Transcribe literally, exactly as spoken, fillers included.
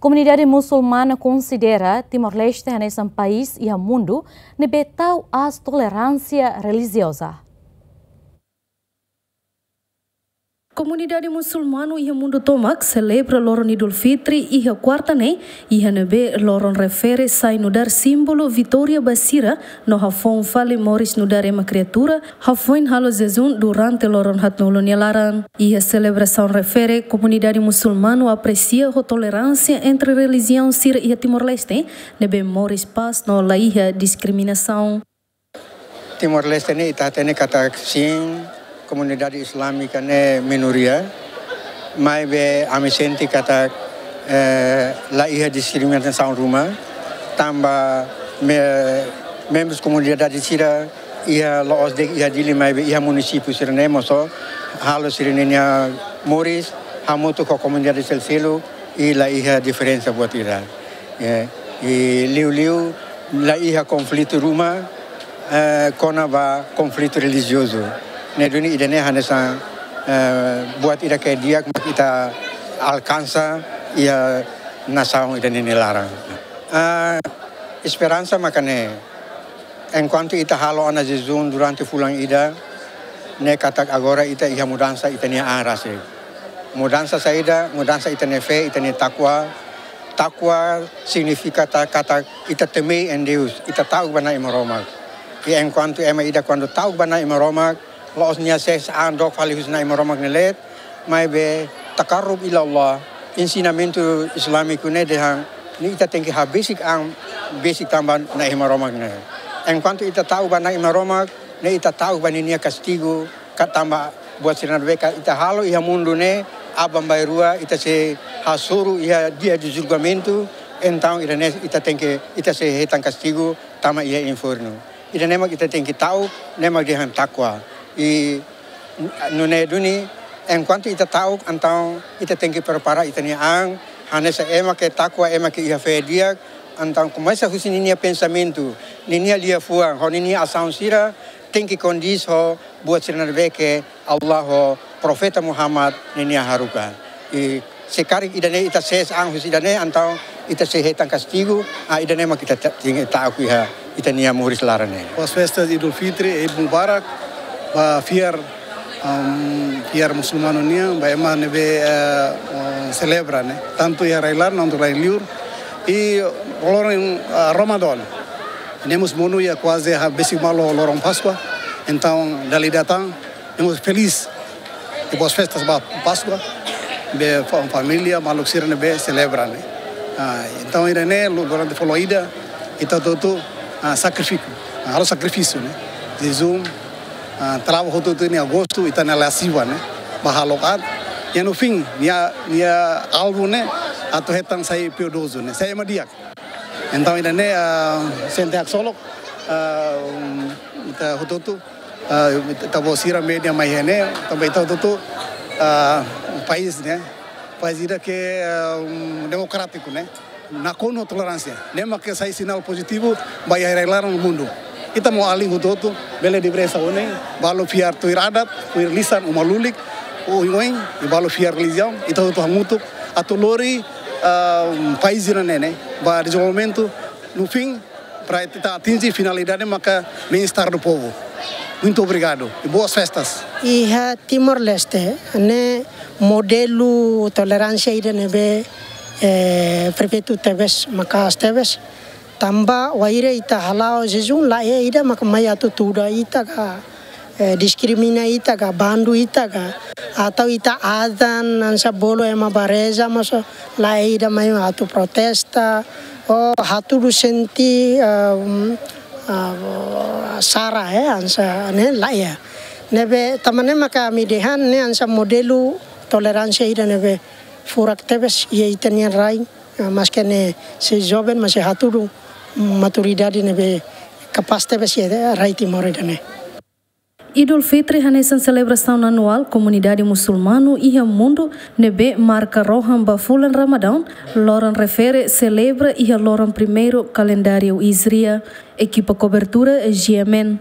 Komunidade musulmana konsidera Timor-Leste hanesan país iha mundu ne'ebé tau aas toleránsia relijioza. Komunidade musulmanu iha mundu tomak selebra loron Idul Fitri iha kuarta ne'e, iha ne'ebé loron refere sai nu'udar símbolu vitória ba sira no hafoun fali moris nu'udar ema kriatura, hafoin halo jejún durante loron haatnulu nia laran. Iha selebrasaun refere, komunidade musulmanu apresia ho toleránsia entre relijiaun sira iha Timor-Leste, ne'ebé moris pás no la iha diskriminasaun. Timor-Leste ne'e ita hatene katak sin, komunidade islámika ne'e minoria, maibé ami sente katak, eh, la iha diskriminasaun ruma, tanba me-, membrus komunidade sira iha la'ós de'it iha Dili maibé iha munisípiu sira-ne'e mós halo sira-ninia moris hamutuk ho komunidade seluk-seluk i la iha diferensa buat ida. Eh, i liuliu la iha konflitu ruma, eh, kona-ba konflitu relijiozu. Ne'e duni ida-ne'e hanesan, eh, buat ida ke di'ak mak ita alkansa iha nasaun ida-ne'e nia laran. Ah, esperansa maka ne'e, enkuantu ita halo ona jejún durante fulan ida, ne'e katak agora ita iha mudansa ita-nia an rasik. Mudansa saida, mudansa ita-nia fé, ita-nia takwa. Takwa signifika ta-, katak ita teme em Deus, ita ta'uk ba Na'i Maromak. I enkuantu ema ida kuandu ta'uk ba Na'i Maromak, la'ós nia sees an dook fali husi Na'i Maromak nia leet, maibé takarrub ila Allah, ensinamentu islámiku ne'e dehan, ne'e ita tenke habesik an, besik tanba Na'i Maromak ne'e. Enkuantu ita ta'uk ba Na'i Maromak, ne'e ita ta'uk ba ninia kastigu, ka tanba buat sira ne'ebé ke ita halo iha mundu ne'e, aban-bainrua ita sei hasoru iha dia de julgamentu, entaun ida-ne'e ita tenke, ita sei hetan kastigu, tama iha infernu. Ida-ne'e mak ita tenke ta'uk, ne'e mak dehan takwa. I nune'e duni, enkuantu ita ta'uk, entaun ita tenke prepara ita-nia an, hanesan ema ke takwa, ema ke iha fé di'ak, entaun komesa husi ninia pensamentu, ninia liafuan, ho ninia asaun sira, tenke kondiz ho buat sira ne'ebé ke Allah ho Profeta Muhammad ninia haruka. I se karik ida-ne'e ita sees an husi ida-ne'e, entaun ita sei hetan kastigu, ah, ida-ne'e mak ita ta-, tenke ta'uk iha ita-nia moris laran ne'e. Boas festas Idul Fitri, Eid Mubarak, ba fiar, um, fiar musulmanu nian, ba ema ne'ebé, eh, eh, selebra ne'e. Tantu iha rai-laran, no rai-liur. I loron, eh, Ramadan. Ne'e mós monu iha kuaze habesik malu loron Páskua. Entaun, dala ida tan, ne'e mós felís. I boas festas ba Páskua. Be fa-, família, maluk sira ne'ebé selebra ne'e. Ah, entaun, ida-ne'e, lu-, durante fulan ida, ita hotu-hotu, ah, sakrifika. Ah, halo sakrifísiu ne'e. Jejún, ah, traballu hotu-hotu iha agostu, ita-nia lasiva ne'e. Ba halo aat. I no fim, nia, nia alvu ne'e, atu hetan sai piedozu ne'e. Sai ema di'ak. Entaun, ida-ne'e, ah, sente haksolok, ah, um, ita hotu-hotu, ah, ita-boot sira media mai iha ne'e, tanba ita hotu-hotu, ah, país ne'e, país ida ke, ah, um, demokrátiku ne'e, nakonu toleránsia. Ne'e mak ke sai sinál pozitivu ba iha rai-laran no mundu. Ita mós alin hotu-hotu, bele dibresa oin, balu fiar tuir adat, tuir lisan, uma lulik, oioin, i balu fiar relijiaun, ita hotu hamutuk, atu lori, ah, país ida-ne'e, ne'e, ba dezenvolvimentu, no fim, para ita atinje finalidade maka bem-estar do povo. Muito obrigado e boas festas. Iha Timor-Leste, ne'e modelu toleránsia ida ne'ebé, eh, perfeitu tebes, maka'as tebes. Tanba wainhira ita hala'o jejún, laiha ida mak mai atu tuda ita ka, eh, diskrimina ita ka, bandu ita ka, atau ita azan hanesan bolu ema ba reza, mas laiha ida mai atu protesta, ou hatudu sente, ah, um, ah, sara, eh, hanesan ne'e laiha. Ne'ebé tanba ne'e maka ami dehan ne'e hanesan modelu toleránsia ida ne'ebé furak tebes iha ita-nia rai, ah, maske ne'e sei joven, mas sei hatudu maturidade ne'ebé kapás tebes iha rai Timor ida-ne'e. Idul Fitri hanesan selebrasaun anuál komunidade musulmanu iha mundu ne'ebé marka rohan ba fulan Ramadán, loron refere selebra iha loron primeiru kalendáriu Hijriah. Ekipa kobertura G M N.